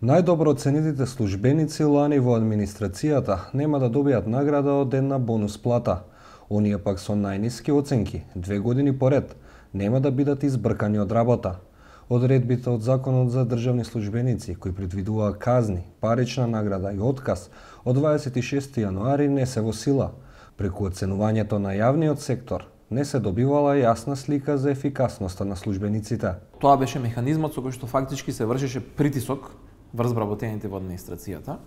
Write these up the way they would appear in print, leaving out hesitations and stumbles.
Најдобро оценетите службеници лани во администрацијата нема да добијат награда од една бонус плата. Оние пак со најниски оценки, 2 години поред, нема да бидат избркани од работа. Одредбите од Законот за државни службеници, кои предвидува казни, парична награда и отказ, од 26 јануари не се во сила. Преку оценувањето на јавниот сектор, не се добивала јасна слика за ефикасноста на службениците. Тоа беше механизмот со кој што фактички се вршеше притисок врз вработените во администрацијата,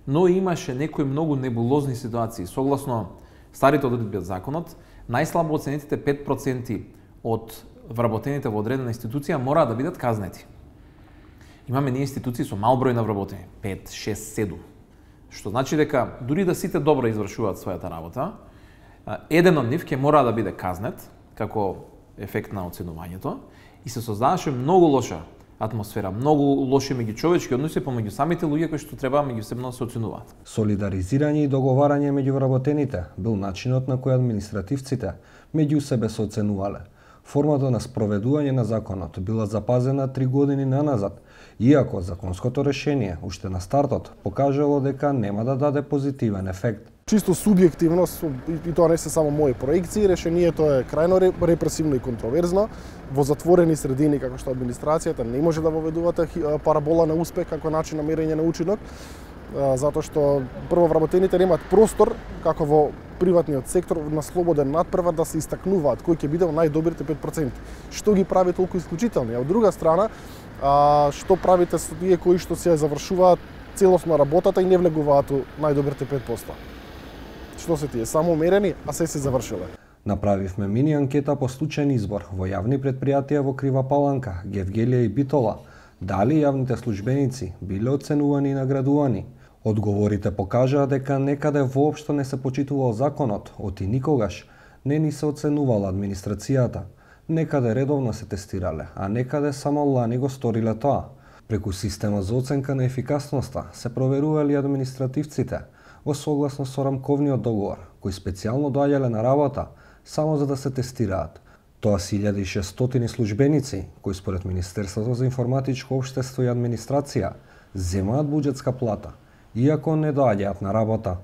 но имаше некои многу небулозни ситуации. Согласно старите одредби од законот, најслабо оценетите 5% од вработените во одредена институција мора да бидат казнети. Имаме ние институции со мал број на вработени, 5, 6, 7. Што значи дека дури да сите добро извршуваат својата работа, еден од нив ќе мора да биде казнет како ефект на оценувањето и се создаваше многу лоша атмосфера, многу лоши меѓучовечки односи помеѓу самите луѓе кои што треба меѓусебно да се оценуваат. Солидаризирање и договарање меѓу вработените бил начинот на кој административците меѓу себе се оценувале. Формата на спроведување на законот била запазена 3 години наназад, иако законското решение уште на стартот покажало дека нема да даде позитивен ефект. Чисто субјективно, и тоа не се само мои проекции, решението е крајно репресивно и контроверзно. Во затворени средини, како што администрацијата, не може да воведувате парабола на успех како начин на мерење на учинок, затоа што прво вработените немаат простор, како во приватниот сектор, на слободен надпревар да се истакнуваат кој ќе биде во најдобрите 5%. Што ги прави толку исклучителни? А од друга страна, што правите со тие кои што се завршуваат целосно работата и не влегуваат у најдобрите 5%? Што се тие? Само мерени, а се завршиле. Направивме мини анкета по случајен избор во јавни предпријатија во Крива Паланка, Гевгелија и Битола. Дали јавните службеници биле оценувани и наградувани? Одговорите покажаа дека некаде воопшто не се почитувал законот, оти никогаш не ни се оценувала администрацијата. Некаде редовно се тестирале, а некаде само лани го сториле тоа. Преку система за оценка на ефикасноста се проверували административците во согласно со рамковниот договор, кои специјално доаѓале на работа само за да се тестираат. Тоа се 1600 службеници, кои според Министерството за информатичко општество и администрација земаат буџетска плата, иако не доаѓаат на работа.